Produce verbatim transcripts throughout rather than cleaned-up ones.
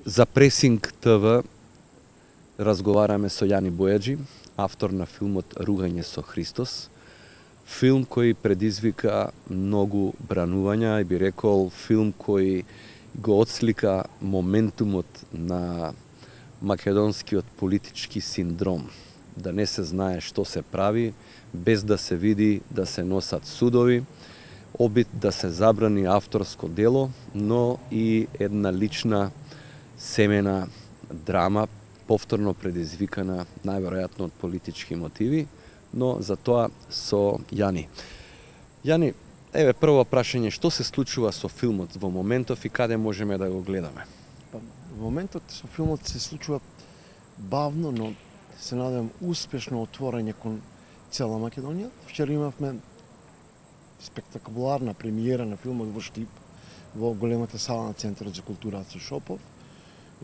За Пресинг ТВ разговараме со Јани Бојаджи, автор на филмот Ругање со Христос. Филм кој предизвика многу бранувања и би рекол филм кој го отслика моментумот на македонскиот политички синдром. Да не се знае што се прави, без да се види да се носат судови, обид да се забрани авторско дело, но и една лична семена драма, повторно предизвикана најверојатно од политички мотиви, но за тоа со Јани. Јани, еве прво прашање, што се случува со филмот во моментов и каде можеме да го гледаме? Па, во моментот со филмот се случува бавно, но се надевам успешно отворање кон цела Македонија. Вчера имавме спектакуларна премиера на филмот во Штип, во големата сала на Центарот за култура Ацо Шопов.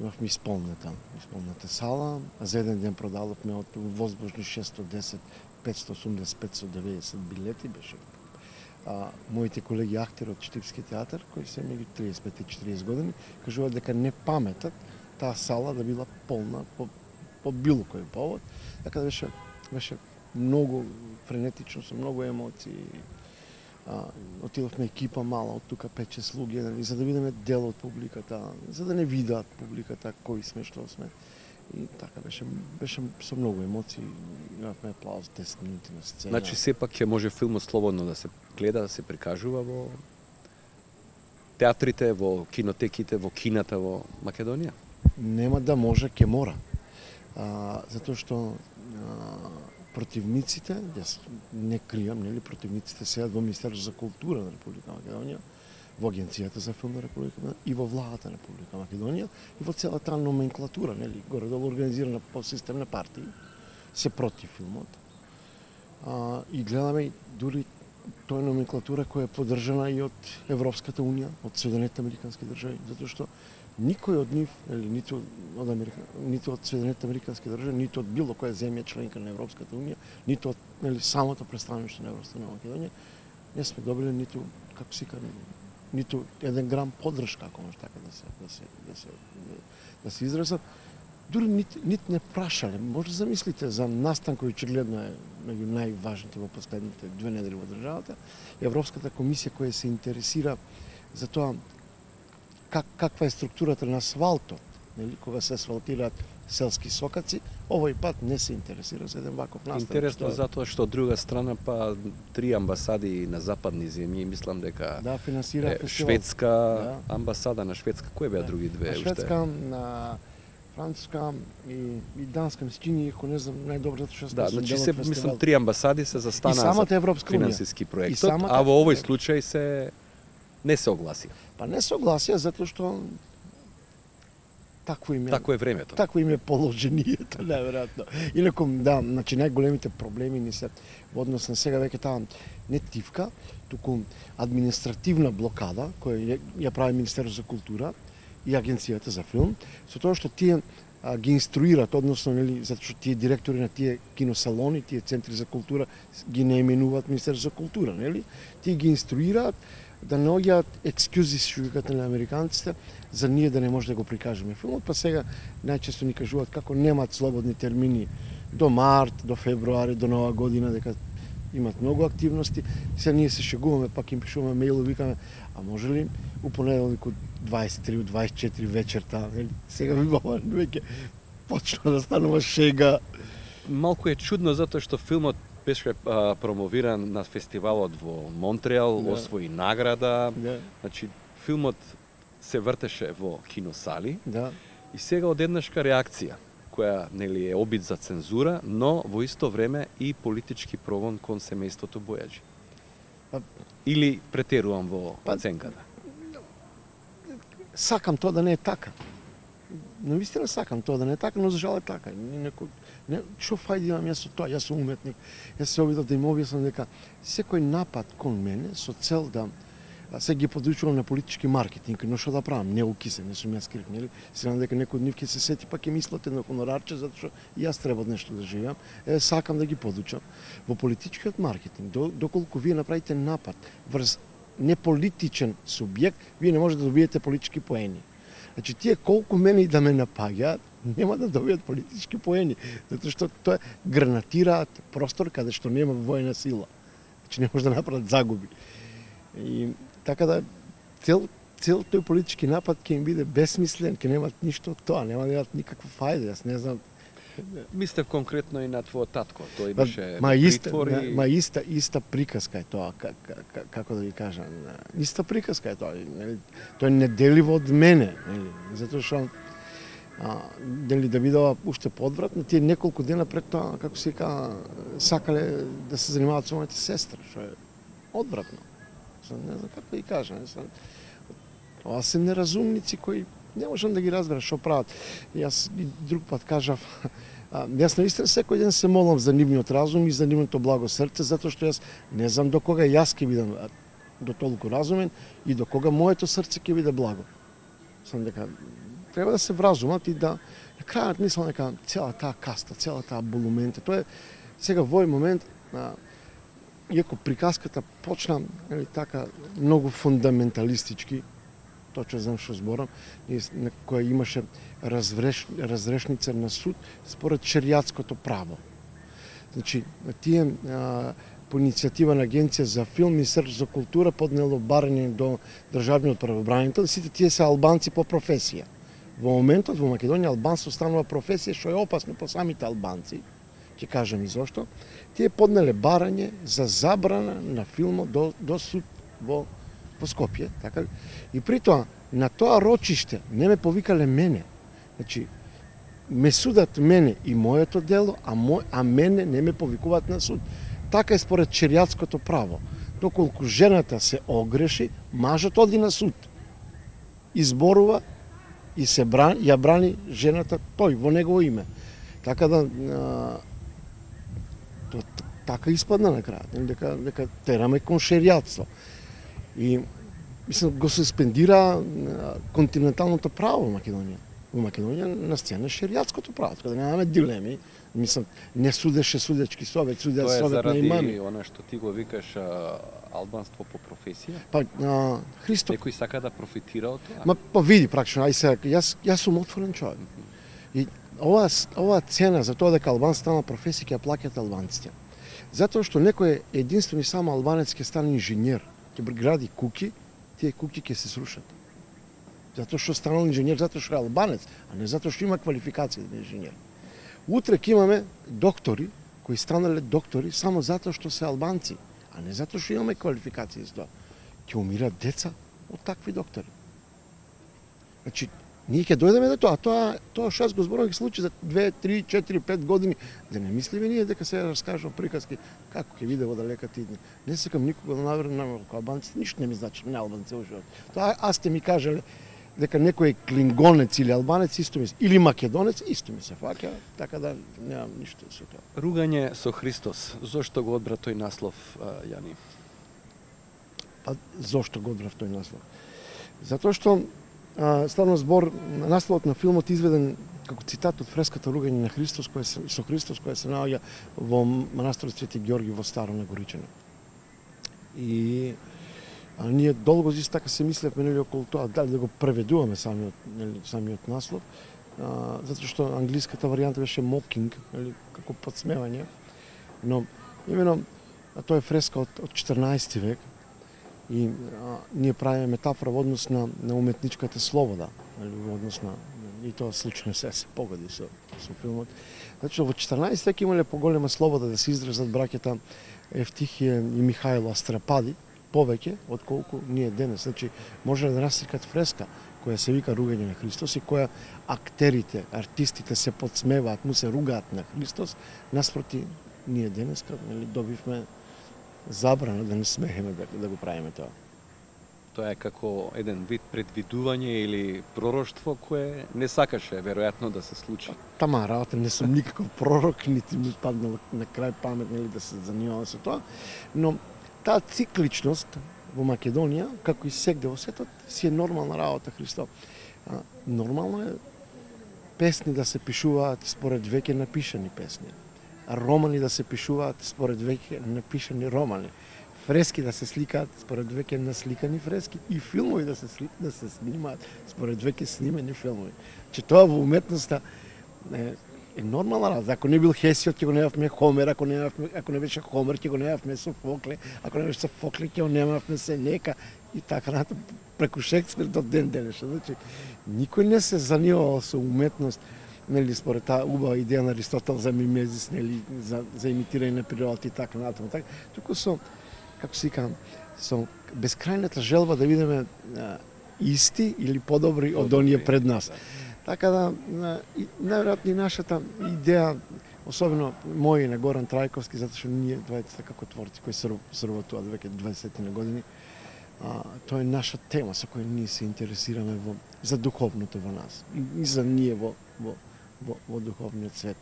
Имавме исполнета, исполнета сала, а за еден ден продадовме од возможни шестоста и десет, петстотини и осумдесет, петстотини и деведесет билети беше. А, моите колеги актери од Штипски театар, кои се меѓу триесет и пет и четириесет години, кажуваат дека не паметат таа сала да била полна по, по било кој повод. Така да беше, беше многу френетично, со многу емоции. А, отидовме екипа мала, од тука пет-шест луѓе, нали, за да видиме дел од публиката, за да не видат публиката кои сме, што сме. И така беше, беше со многу емоции, имавме аплауз десет минути на сцена. Значи сепак ќе може филмот слободно да се гледа, да се прикажува во театрите, во кинотеките, во кината во Македонија? Нема да може, ќе мора. А, затоа што а, противниците, јас не кријам, нели, противниците седат во Министерството за култура на Република Македонија, во Агенцијата за филм на Република Македонија и во владата на Република Македонија и во целата номенклатура, нели, горе-долу организирана по систем на партии, се против филмот. А, и гледаме дури тој номенклатура која е поддржана и од Европската унија, од Соединетите американски држави, затоа што никој од нив, или ниту од Америка, ниту од Соединетите американски држави, ниту од било која земја членка на Европската унија, ниту од, нели, самото представништво на Европската на Македонија, не сме добили ниту, како се кажа, ниту еден грам поддршка, ако може така да се да се да се да се изразам. Дури нит, нит не прашале. Може да замислите за настан кој очигледно е меѓу најважните во последните две недели во државата, Европската комисија која се интересира за тоа как, каква е структурата на асфалтот, нели, кога се асфалтираат селски сокаци, овој пат не се интересира за еден ваков настан. Интересно што... затоа што од друга страна па три амбасади на западни земји, мислам дека да финансира е, шведска да. амбасада на Шведска, кои беа да. други две на шведска, на француска и, и данска, мислам, ако не знам најдобро затоа што да, значи се мислам три амбасади се застана за финансиски проектот, самата... а во овој случај се не се огласија. Па не се огласија затоа што такво име. Такво е времето. Такво име положението, неверојатно. Инаку да, значи најголемите проблеми ни се во однос на сега веќе таа не тивка, туку административна блокада која ја прави Министерството за култура и Агенцијата за филм, со тоа што тие а, ги инструират, односно, нели, затоа што тие директори на тие киносалони, тие центри за култура ги не именуваат Министерство за култура, нели? Тие ги инструираат да наоѓаат екскјузи, што викате на американците, за ние да не може да го прикажеме филмот, па сега најчесто ни кажуваат како немаат слободни термини до март, до февруари, до нова година, дека имат многу активности. Сега ние се шегуваме, пак им пишуваме мејлови, викаме, а може ли у понеделник од дваесет и три, од дваесет и четири вечерта, нели? Сега ви баба веќе почна да станува шега. Малку е чудно затоа што филмот беше а, промовиран на фестивалот во Монтреал, да. освои награда. Да. Значи филмот се вртеше во киносали. Да. И сега одеднашка реакција која нели е обид за цензура, но во исто време и политички прогон кон семејството Бојаджи. Па, или претерувам во па, оценката? Сакам тоа да не е така. Но вистина сакам тоа да не е така, но за жал е така. Некој не, што фајди имам јас со тоа? Јас сум уметник. Јас се обидов да им објаснам дека секој напад кон мене со цел да се ги подучувам на политички маркетинг, но што да правам? Не укисе, не сум јас крив, нели? Се надам дека некој од нив ќе се сети, па ќе мислат едно хонорарче, затоа што јас треба нешто да живеам. Е, сакам да ги подучам. Во политичкиот маркетинг, доколку вие направите напад врз неполитичен субјект, вие не можете да добиете политички поени. Значи, тие колку мене и да ме напаѓаат, нема да добијат политички поени, затоа што тоа гранатираат простор каде што нема војна сила. Значи, не може да направат загуби. И така да цел цел тој политички напад ќе им биде безсмислен, ќе немаат ништо од тоа, нема да имаат никаква фајда, јас не знам. Мислев конкретно и на твојот татко, тој имаше ма иста, притвори. ма иста иста приказка е тоа, как, как, како да ви кажам, иста приказка е тоа, нели? Тоа е неделиво од мене, нели? Затоа што а, дали да видела уште подвратно, тие неколку дена пред тоа, како се вика, сакале да се занимаваат со моите сестра, што е одвратно. Не знам како да ви кажам, не знам. Ова се неразумници кои не можам да ги разберам што прават. Јас и друг пат кажав, а, јас наистина секој ден се молам за нивниот разум и за нивното благо срце, затоа што јас не знам до кога јас ќе бидам до толку разумен и до кога моето срце ќе биде благо. Сам дека треба да се вразумат и да на крајот мислам дека цела таа каста, цела таа болумента, тоа е сега во овој момент, а, иако приказката почна, нели така многу фундаменталистички, точно знам што зборам, на која имаше разреш, разрешница на суд според шеријатското право. Значи, тие а, по иницијатива на Агенција за филм и Министерство за култура поднело барање до државниот правобранител, сите тие се албанци по професија. Во моментот во Македонија албанство станува професија што е опасно по самите албанци. Ќе кажам и зошто. Тие поднеле барање за забрана на филмот до, до суд во во Скопје, така? И при тоа, на тоа рочиште не ме повикале мене. Значи, ме судат мене и моето дело, а, мо, а мене не ме повикуваат на суд. Така е според шеријатското право. Доколку жената се огреши, мажот оди на суд. Изборува и се брани, ја брани жената тој во негово име. Така да а, то, така испадна на крајот, дека дека тераме кон шеријатство. И мислам го суспендира континенталното право во Македонија. Во Македонија на сцена шеријатското право, така да немаме дилеми. Мислам, не судеше судечки совет, судеа совет на имами. Тоа е заради она што ти го викаш а, албанство по професија? Па, а, Христо... Некој сака да профитира од тоа? Ма, па види, практично, ај сега, јас, јас сум отворен човек. И ова, ова цена за тоа дека албанец стана професија ќе плаќаат албанците. Затоа што некој единствен и само албанец ќе стане инженер, ќе гради куќи, тие куќи ќе се срушат. Затоа што станал инженер, затоа што е албанец, а не затоа што има квалификација да е инженер. Утре ќе имаме доктори кои станале доктори само затоа што се албанци, а не затоа што имаме квалификација за тоа. Ќе умират деца од такви доктори. Значи, ние ќе дојдеме до тоа, тоа тоа што јас го зборувам ќе случи за две, три, четири, пет години, да не мислиме ние дека се раскажува приказки како ќе биде во далеката иднина. Не сакам никога да наверам на албанците, ништо не ми значи, не албанци во живот. Тоа аз сте ми кажале дека некој е клингонец или албанец исто ми или македонец исто ми се фаќа, така да немам ништо со тоа. Ругање со Христос. Зошто го одбра тој наслов, Јани? Па зошто го одбрав тој наслов? Затоа што а, ставно збор, насловот на филмот изведен како цитат од фреската Ругање на Христос, која се, со Христос, која се наоѓа во манастирот Свети Ѓорги во Старо на Горичане. И а, ние долго зис така се мислевме нели околу тоа дали да го преведуваме самиот нели самиот наслов, а, затоа што англиската варијанта беше mocking, нели како подсмевање, но имено а тоа е фреска од, од четрнаесети век. И а, ние правиме метафора во однос на, на уметничката слобода, во однос на и тоа случно се се погоди со со филмот. Значи во четрнаесети век имале поголема слобода да се изразат браќата Евтихија и Михајло Астрапади повеќе отколку ние денес. Значи може да насликат фреска која се вика Ругање на Христос и која актерите, артистите се подсмеваат, му се ругаат на Христос, наспроти ние денес нели добивме забрана да не смееме да, да го правиме тоа. Тоа е како еден вид предвидување или пророштво кое не сакаше веројатно да се случи. Тама работа, не сум никаков пророк, нити ми паднал на крај памет нели да се занимавам со тоа, но таа цикличност во Македонија, како и сегде во светот, си е нормална работа, Христо. А, нормално е песни да се пишуваат според веќе напишани песни. Романи да се пишуваат според веќе напишани романи. фрески да се сликаат според веќе насликани фрески и филмови да се сли, да се снимаат според веќе снимени филмови. Че тоа во уметноста е, е нормална работа. Ако не бил Хесиот, ќе го немавме Хомер, ако не ако не беше Хомер, ќе го немавме Софокле, ако не беше Софокле, ќе го немавме Сенека и така натаму преку Шекспир до ден денешен. Значи никој не се занимавал со уметност, нели според таа убава идеја на Аристотел за мимезис, нели за за имитирање на природата и така натаму, така, туку со како се викам, со бескрајната желба да бидеме а, исти или подобри од оние пред нас. Така да, најверојатно и нашата идеја, особено мој на Горан Трајковски, затоа што ние двајцата како творци кои соработуваат веќе дваесет на години, а, тоа е наша тема со која ние се интересираме во, за духовното во нас и, и за ние во, во, во, во духовниот свет.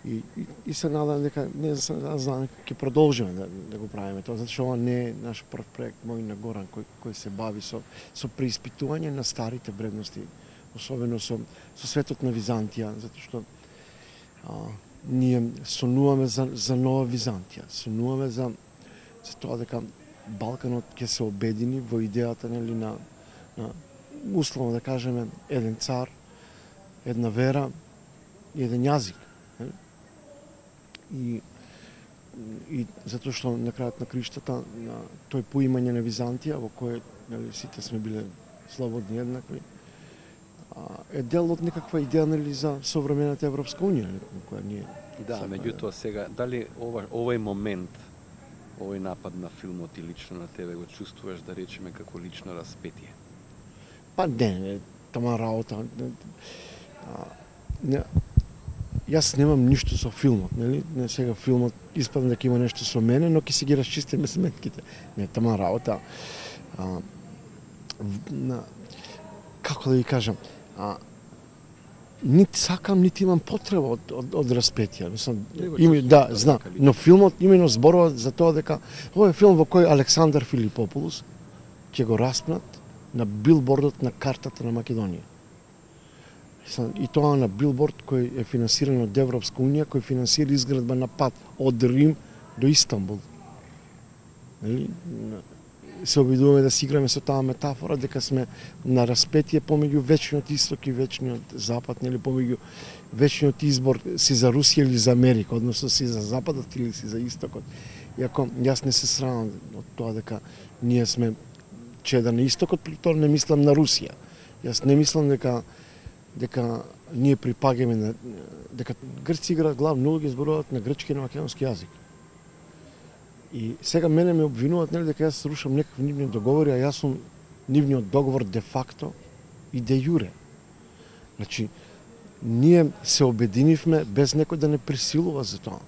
И, и, и се надам дека не знам ќе продолжиме да, да го правиме тоа, затоа што ова не е наш прв проект, мој на Горан кој кој се бави со со преиспитување на старите вредности, особено со со светот на Византија, затоа што а, ние сонуваме за за нова Византија, сонуваме за за тоа дека Балканот ќе се обедини во идејата, нели, на на условно да кажеме еден цар, една вера и еден јазик. И, и затоа што на крајот на криштата на тој поимање на Византија во кој, нели, сите сме биле слободни еднакви, е дел од некаква идеја, нели, за современата Европска унија, која ние. Да, меѓутоа сега дали ова, овој момент, овој напад на филмот и лично на тебе го чувствуваш, да речеме, како лично распетие? Па не, не, тама работа. Не, не, јас немам ништо со филмот, нели? Не, сега филмот испадна дека има нешто со мене, но ќе си ги расчистиме сметките. Не, тама работа. А, на, како да ви кажам, а, нити сакам, нити имам потреба од, од, од распетија. Мислам, има, да, знам, но филмот имено зборува за тоа дека овој е филм во кој Александар Филипопулус ќе го распнат на билбордот на картата на Македонија. И тоа на билборд кој е финансиран од Европска унија, кој финансира изградба на пат од Рим до Истанбул. Нели? Се обидуваме да си играме со таа метафора дека сме на распетие помеѓу вечниот исток и вечниот запад, нели, помеѓу вечниот избор си за Русија или за Америка, односно си за западот или си за истокот. Иако јас не се срамам од тоа дека ние сме чеда на истокот, при тоа не мислам на Русија. Јас не мислам дека дека ние припагаме на дека грци играат главно улоги, зборуваат на грчки и на македонски јазик. И сега мене ме обвинуваат, нели, дека јас рушам некакви нивни договори, а јас сум нивниот договор де факто и де јуре. Значи, ние се обединивме без некој да не присилува за тоа.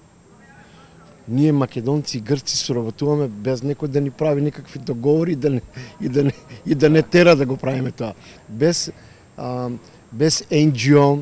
Ние македонци и грци соработуваме без некој да ни прави некакви договори и да не, и да не, и да не тера да го правиме тоа. Без а, без ен џи о,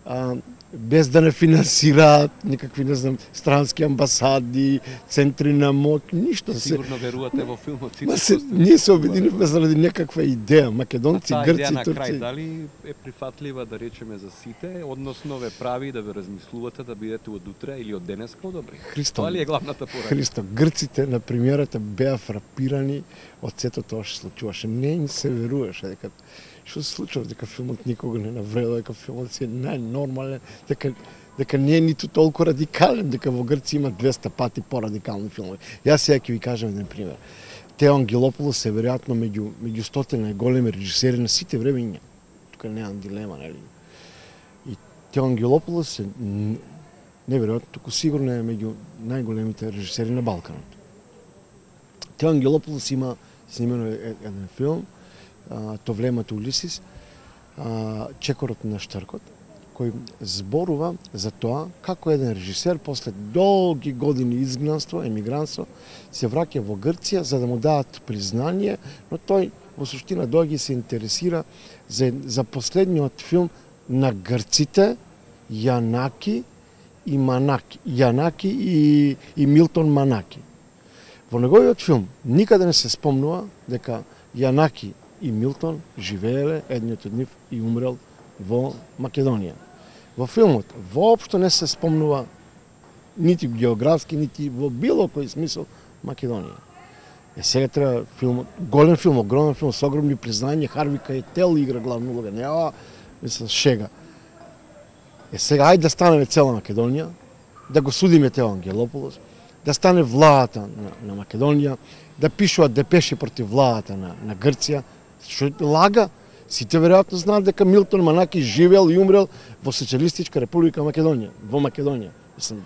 а, без да не финансираат никакви, не знам, странски амбасади, центри на моќ, ништо. Сигурно верувате во филмот. Се, ние се обединивме заради некаква идеја, македонци, а грци, идеја на турци. крај, дали е прифатлива, да речеме, за сите, односно ве прави да ве размислувате да бидете од утре или од денес подобри? Христо, тоа ли е главната порака? Христо, грците на премиерата беа фрапирани од сето тоа што случуваше. Не им се веруваше дека што се случува, дека филмот никога не навредува, дека филмот си е најнормален, дека дека не е ниту толку радикален, дека во Грција има двеста пати порадикални филмови. Јас сега ќе ви кажам еден пример. Тео Ангелополос е веројатно меѓу меѓу стотина најголеми режисери на сите времиња. Тука немам дилема, нели? И Тео Ангелополос е неверојатно, туку сигурно е меѓу најголемите режисери на Балканот. Тео Ангелополос има снимено еден филм, То влемето Улисис, Чекорот на Штаркот, кој зборува за тоа како еден режисер после долги години изгнанство, емигрантство, се враќа во Грција за да му дадат признание, но тој во суштина доаѓа и се интересира за, за последниот филм на грците Јанаки и Манаки, Јанаки и, и Милтон Манаки. Во неговиот филм никаде не се спомнува дека Јанаки и Милтон живееле, едниот од нив и умрел во Македонија. Во филмот воопшто не се спомнува нити географски, нити во било кој смисол Македонија. Е сега треба филм, голем филм, огромен филм со огромни признања, Харви Кајтел игра главна улога, не ова, мислам, шега. Е сега ајде да станеме цела Македонија, да го судиме Тео Ангелополос, да стане владата на, на Македонија, да пишуваат депеши против владата на, на Грција, што лага. Сите веројатно знаат дека Милтон Манаки живеел и умрел во Социјалистичка република Македонија, во Македонија. Мислам,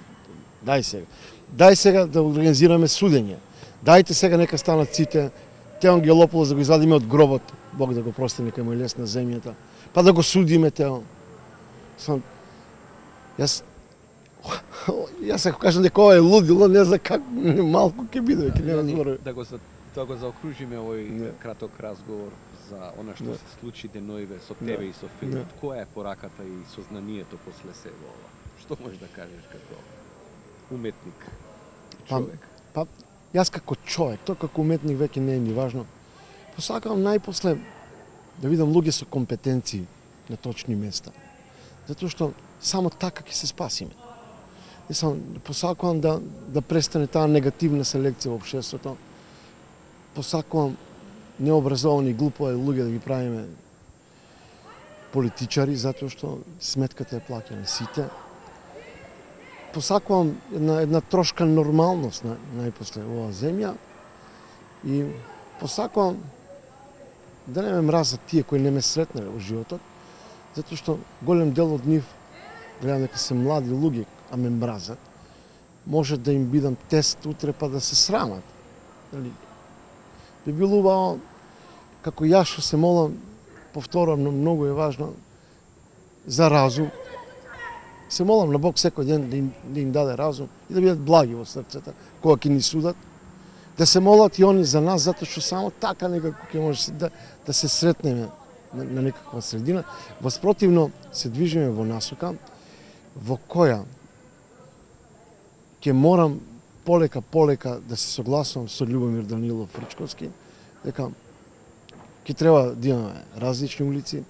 дај сега. Дај сега да организираме судење. Дајте сега нека станат сите Тео Ангелополос да го извадиме од гробот, Бог да го прости, нека му е лес на земјата, па да го судиме Тео. Сам, јас јас ако кажам дека ова е лудило, не знам как малку ќе биде, ќе нема зборови. Да го за да го заокружиме овој не. краток разговор за она што не. се случи деноиве со тебе не. и со филмот. Која е пораката и сознанието после себе ова? Што можеш да кажеш како уметник, човек? Па, па јас како човек, тоа како уметник веќе не е ни важно. Посакам најпосле да видам луѓе со компетенции на точни места. Затоа што само така ќе се спасиме. И сам посакувам да да престане таа негативна селекција во општеството. Посакувам необразовани глупови луѓе да ги правиме политичари затоа што сметката е плаќана сите. Посакувам една една трошка нормалност на најпосле оваа земја и посакувам да не ме мразат тие кои не ме сретнале во животот, затоа што голем дел од нив, гледам дека се млади луѓе, а ме мразат, може да им бидам тест утре па да се срамат. Дали? Би било убаво, како јас што се молам, повторам, но многу е важно, за разум. Се молам на Бог секој ден да им, да им даде разум и да бидат благи во срцата, кога ќе ни судат. Да се молат и они за нас, затоа што само така некако ќе може да, да се сретнеме на, на некаква средина. Воспротивно се движиме во насока во која ќе морам полека полека да се согласувам со Љубомир Данилов Фрчковски, дека ќе треба да имаме различни улици,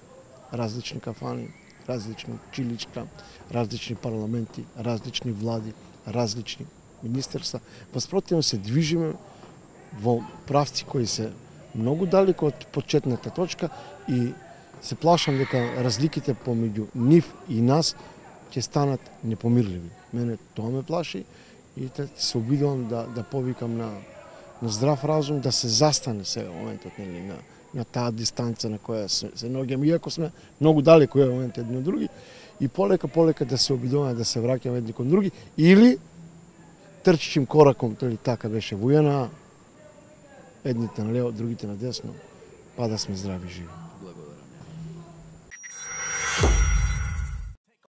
различни кафани, различни училишта, различни парламенти, различни влади, различни министерства. Воспротивно се движиме во правци кои се многу далеко од почетната точка и се плашам дека разликите помеѓу нив и нас ќе станат непомирливи. Мене тоа ме плаши и се обидувам да, да повикам на, на здрав разум, да се застане сега моментот нели, на, на таа дистанца на која се, се наоѓаме, иако сме многу далеко е момент едни од други, и полека полека да се обидуваме да се враќаме едни кон други, или трчичим кораком, толи така беше во Ј Н А, едните на лево, другите на десно, па да сме здрави и живи.